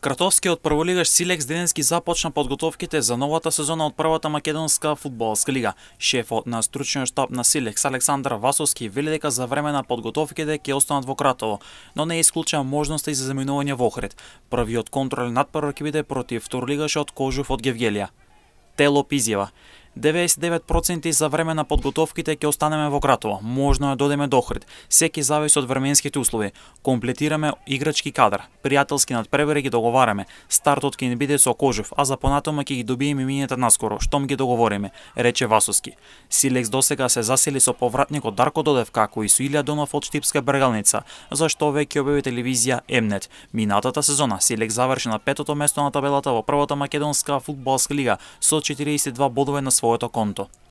Кратовскиот прволигаш Силекс денески започна подготовките за новата сезона од првата македонска фудбалска лига. Шефот на стручниот штаб на Силекс Александар Васовски вели дека за време на подготовките ќе останат во Кратово, но не исклучува можности за заминување во Охрид. Првиот контролен надпревар ќе биде против второлигашот Кожув од Гевгелија. Телоп изјава: 99% за време на подготовките ќе останеме во Кратово. Можно е додеме до Охрид. Секи зависи од временските услови. Комплетираме играчки кадар. Пријателски надпревари ги договараме. Стартот ќе ни биде со Кожув, а за понатома ќе ги добиеме мината наскоро, штом ги договориме, рече Васовски. Силекс досега се засели со повратникот Дарко Додев, како и со Илија Донов од Штипска Бергалница, за што веќе објави телевизија Емнет. Минатата сезона Силекс заврши на 5-то место на табелата во првата македонска фудбалска лига со 42 бодови на своето конто.